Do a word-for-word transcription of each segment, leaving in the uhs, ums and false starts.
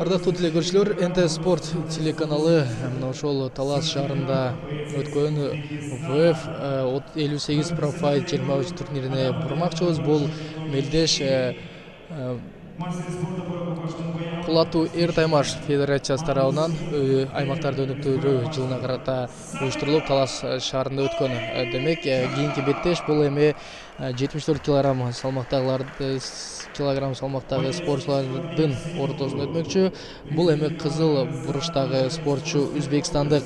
Ардактуу телекөрүүчүлөр, эн тэ спорт телеканалы мына ошол Талас шаарында өткөн вэ эф элүү сегиз профайт жыйырма үч турнирине бурмакчыбыз. Бул мелдеш кулатуу эр таймаш федерациясы тарабынан аймактарды өнүктүрүү жылына карата уюштурулуп Талас шаарында өткөн. Демек, кийинки беттеш бул эми жетимиш төрт килограмм салмактагыларды килограмм салмактагы спортчулардын ортосунда өтмөкчү. Бул эми кызыл буруштагы спортчу Өзбекстандык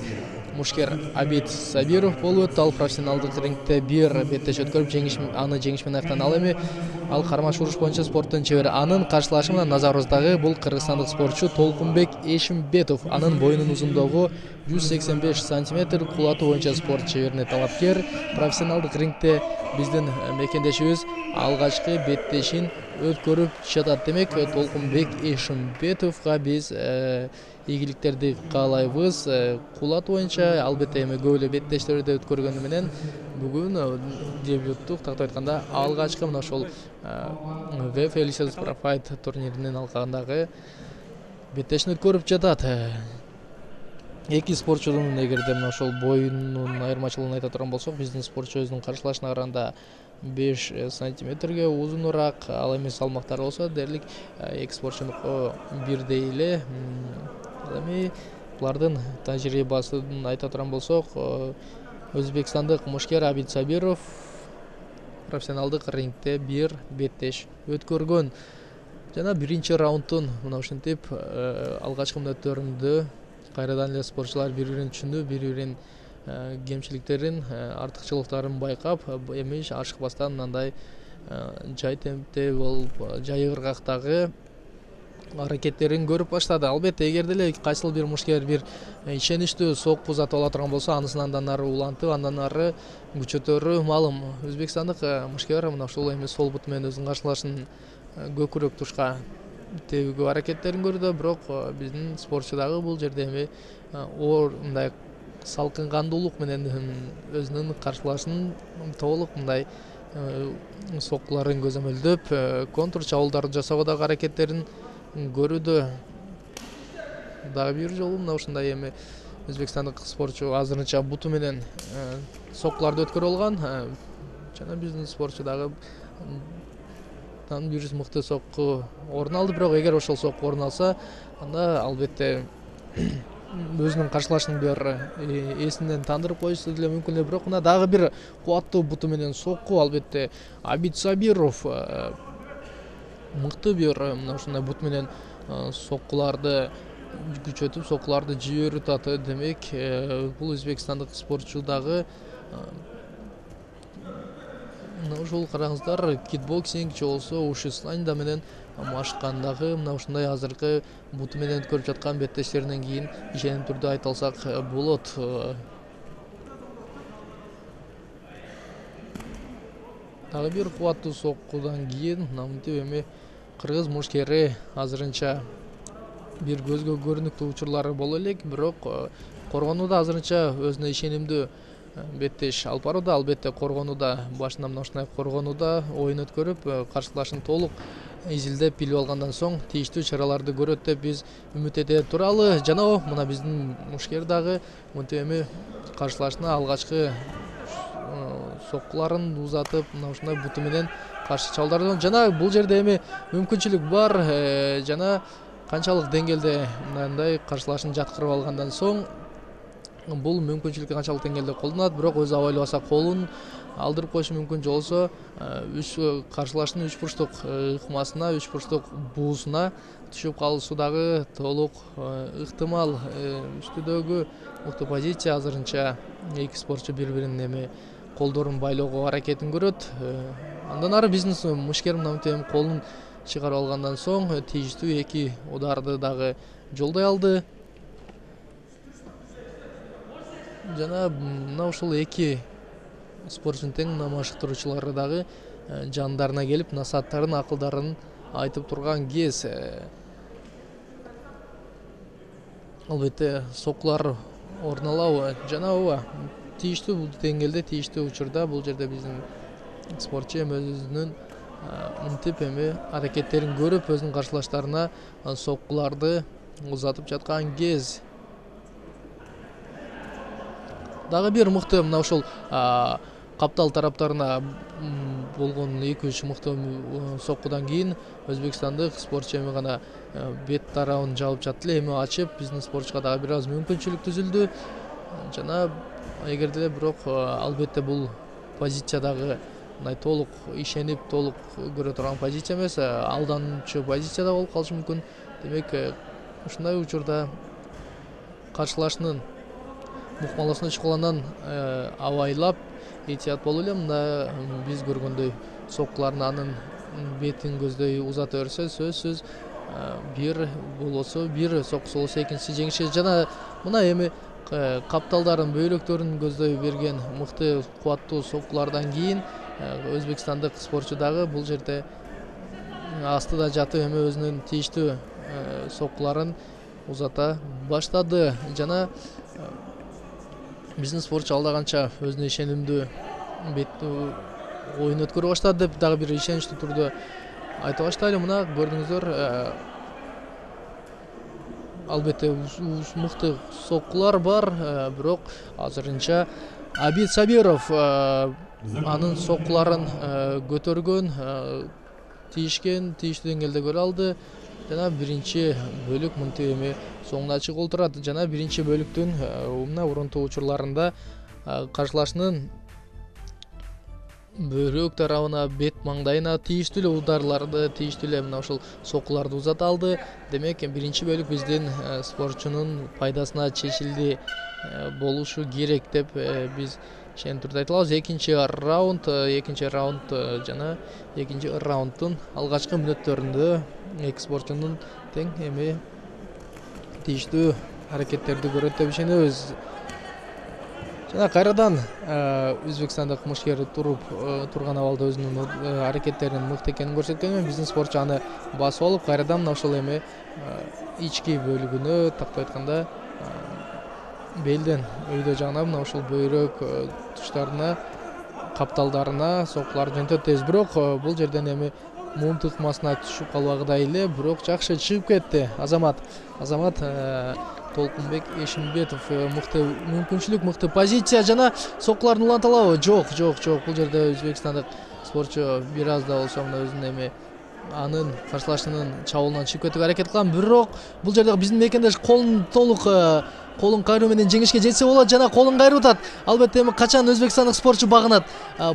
Мушкер Абид Сабиров болуп өттү. Ал профессионалдык рингте бир беттеш өткөрүп, жеңиш аны жеңиш менен аяктан. Ал эми ал кармаш уруш боюнча спорттун чебери. Анын каршылашы менен назарыбыздагы бул кыргызстандык спортчу Толкунбек Эшимбетов. Анын боюнун узундугу жүз сексен беш сантиметр, кулатуу боюнча спорт чеберине талапкер. Профессионалдык рингте биздин мекендешибиз алгачкы беттешин өткөрүп жатат. Демек, Толкунбек Эшимбетовго биз ийгиликтерди каалайбыз. Кулатуу боюнча албетте эми көп эле беттештерди өткөргөнү менен бүгүн дебюттук, тактап айтканда алгачкы мына ошол вэ эф элүү сегиз профайт турниринин алкагындагы беттешин өткөрүп жатат. Эки спортчунун эгерде мына ошол боюнун айырмачылыгын айта турган болсок, биздин спортчу өзүнүн каршылашына караганда беш сантиметрге узунураак. Ал эми салмактары болсо дээрлик эки спортчунуку бирдей эле. Ал эми булардын тажрыйбасын айта турган болсок, Өзбекстандык Мушкер Абид Сабиров профессионалдык рингте бир беттеш өткөргөн. Жана биринчи раундтун мына ушинтип алгачкы мүнөттөрүндө кайрадан эле спортчулар бири-бирин түшүндү, бири-биринин кемчиликтерин, артыкчылыктарын байкап, эми ашыкпастан мындай жай темпте болуп, жай ыргактагы аракеттерин көрүп баштады. Албетте, эгер деле кайсыл бир мушкер бир ишеничтүү сокку узатып ала турган болсо, анысын андан ары улантып, андан ары күчөтөрү маалым. Өзбекстандык мушкер мына ушул эми сол буту менен өзүнүн каршылашын көкүрөк тушка тебүүгө аракеттерин көрдү. Бирок биздин спортчу дагы бул жерде эми оор мындай салкын кандуулук менен өзүнүн каршылашын толук мындай соккуларын көзөмөлдөп, контур чабуулдарды жасоого дагы аракеттерин көрүүдө. Дагы бир жолу мына ушундай эми өзбекстандык спортчу азырынча буту менен соккуларды өткөрө алган. Жана биздин спортчу дагы бир жүз мыкты сокку орун алды. Бирок эгер ошол сокку орун алса, анда албетте өзүнүн каршылашын бир эсинен тандырып коюшу деле мүмкүн эле. Бирок мына дагы бир кубаттуу буту менен сокку. Албетте Абид Сабиров мыкты бир мына ушундай бут менен соккуларды күчөтүп, соккуларды жиберип атат. Демек, бул өзбекстандык спортчу дагы мына ушул караңыздар, кикбоксинг же болбосо ушу слайнда менен машыккандагы мына ушундай азыркы буту менен өткөрүп жаткан беттештеринен кийин ишеним түрдө айта алсак болот. Дагы бир кубаттуу соккудан кийин мынтип эми кыргыз мушкери азырынча бир көзгө көрүнүктүү учурлары боло элек, бирок коргонууда азырынча өзүнө ишенимдүү беттеш алып барууда. Албетте, коргонууда башында мына ушундай коргонууда оюн өткөрүп, каршылашын толук изилдеп билип алгандан соң тийиштүү чараларды көрөт деп биз үмүт эте туралы. Жана мына биздин мушкер дагы мынтип эми каршылашына алгачкы соккуларын узатып, мына ушундай буту менен каршы чабуулдарды. Жана бул жерде эми мүмкүнчүлүк бар. Жана канчалык деңгээлде мындай каршылашын жаткырып алгандан соң бул мүмкүнчүлүк канчалык деңгээлде колдонулат. Бирок өзү аба элбаса колун алдырып коюшу мүмкүн, же болбосо үч каршылашынын үч бурчтук ыкмасына, үч бурчтук буусуна түшүп калышы дагы толук ыктымал. Үстүдөгү мыкты позиция азырынча эки спортчу бири-биринин эми колдорун байлоого аракетин көрөт. Андан ары биздин мушкер мынтип колун чыгарып алгандан соң тийиштүү эки ударды дагы жолдой алды. Жана мына ушул эки спортчунун тең машыктыруучулары дагы жандарына келип, насааттарын, акылдарын айтып турган кез. Албетте, соккулар орун алабы? Жана ооба, тийиштүү деңгээлде, тийиштүү учурда бул жерде биздин спортчу эми өзүнүн мынтип эми аракеттерин көрүп өзүнүн каршылаштарына соккуларды узатып жаткан кез. Дагы бир мыкты мына ушул каптал тараптарына болгон эки үч мыкты соккудан кийин өзбекстандык спортчу эми гана бет тарабын жабып жатты эле, эми ачып биздин спортчуга дагы бир аз мүмкүнчүлүк түзүлдү. Жана эгерде эле бирок албетте бул позиция дагы мындай толук ишенип толук көрө турган позиция эмес, алдануучу позицияда болуп калышы мүмкүн. Демек ушундай учурда каршылашынын мукмаласына чукуланан абайлап этият болуп эле мында биз көргөндөй соккуларын анын бетин көздөй узата берсе сөзсүз бир болосо бир соккусу болсо экинчиси жеңиши. Жана мына эми капталдарын бөйрөктөрүн көздөй берген мыкты кубаттуу соккулардан кийин өзбекстандык спортчу дагы бул жерде астыда жатып эми өзүнүн тийиштүү соккуларын узата баштады. Жана биздин спортчу алда канча өзүнө ишенимдүү оюн өткөрө баштады деп дагы бир ишеничтүү түрдө айта баштайлы. Мына көрдүңүздөр, албетте мыкты соккулар бар, бирок азырынча Абид Сабиров анын соккуларын көтөргөн, тийишкен, тийиштүү деңгээлде көрө алды. Жана биринчи бөлүк мынтип эми соңуна чыгып отурат. Жана биринчи бөлүктүн мына урунтуу учурларында каршылашынын бөйрөк тарабына, бет маңдайына тийиштүү эле ударларды, тийиштүү эле мына ушул соккуларды узата алды. Демек биринчи бөлүк биздин спортчунун пайдасына чечилди болушу керек деп биз ишеним түрдө айта алабыз. Экинчи раунд, экинчи раунд жана экинчи раунддун алгачкы мүнөттөрүндө эки спортчунун тең эми тийиштүү аракеттерди көрөт деп ишенебиз. Жана кайрадан өзбекстандык мушкер туруп турган абалда өзүнүн аракеттеринин мыкты экенин көрсөткөнү, биздин спортчу аны басып алып кайрадан мына ушул эми ички бөлүгүнө, тактап айтканда белден өйдө жагына мына ушул бөйрөк тучтарына, капталдарына соккуларды жөнөтөт. Бирок бул жерден эми муун тыкмасына түшүп калбагыдай эле, бирок жакшы чыгып кетти. Азамат Азамат Толкунбек Эшимбетов мыкты мүмкүнчүлүк, мыкты позиция жана соккуларын уланталабы? Жок, жок, жок. Бул жерде өзбекстандык спортчу бир аз да болсо мына өзүнүн эми анын каршылашынын чабуулунан чыгып кетүүгө аракет кылган. Бирок бул жерде биздин мекендеш колун толук колун кайруу менен жеңишке жетсе болот. Жана колун кайрып атат. Албетте эми качан өзбекстандык спортчу багынат?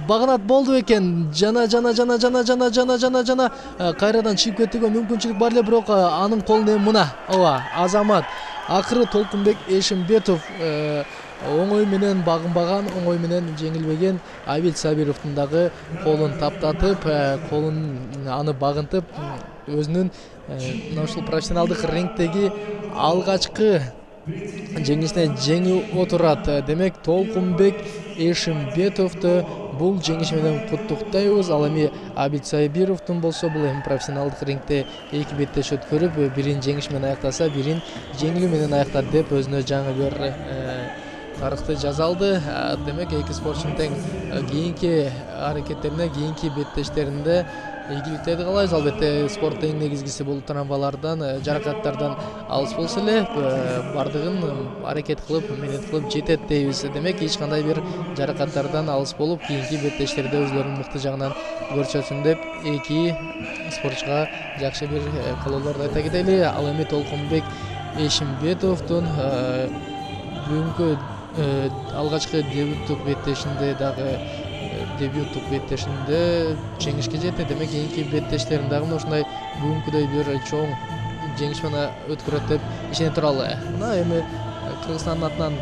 Багынат болду экен. Жана жана жана жана жана жана жана жана кайрадан чыгып кетүүгө мүмкүнчүлүк бар эле, бирок анын колунда эми мына ооба Азамат акыры Толкунбек Эшимбетов оңой менен багынбаган, оңой менен жеңилбеген Абид Сабировдун дагы колун таптатып, колун аны багынтып, өзүнүн мына ушул профессионалдык рингдеги алгачкы жеңишине жеңип отурат. Демек Толкунбек Эшимбетовду бул жеңиш менен куттуктайбыз. Ал эми Абид Сабировдун болсо бул эми профессионалдык рингде эки беттеш өткөрүп, бирин жеңиш менен аяктаса, бирин жеңилүү менен аяктады деп өзүнө жаңы бир тарыхты жаза алды. Демек эки спортчунун тең кийинки аракеттерине, кийинки беттештеринде ийгиликтерди каалайбыз. Албетте спорттун эң негизгиси бул травмалардан, жаракаттардан алыс болсо эле, бардыгын аракет кылып, менет кылып жетет дейбиз. Демек эч кандай бир жаракаттардан алыс болуп, кийинки беттештерде өзлөрүнүн мыкты жагынан көрсөтсүн деп эки спортчуга жакшы бир каалоолорду айта кетели. Ал эми Толкунбек Эшимбетовдун бүгүнкү алгачкы дебюттук беттешинде дагы дебюттук беттешинде жеңишке жетти. Демек кийинки беттештерин дагы мына ушундай бүгүнкүдөй бир чоң жеңиш менен өткөрөт деп ишене туралы. Мына эми Кыргызстандын атынан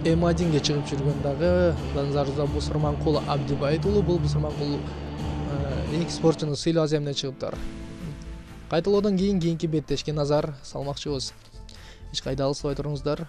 эм одинге чыгып жүргөн дагы назарыбызда Бусурманкул Абдибайт уулу. Бул Бусурманкул эки спортчунун сыйлоо аземине чыгыптыр. Кайталоодон кийин кийинки беттешке назар салмакчыбыз. Эч кайда алыспай туруңуздар.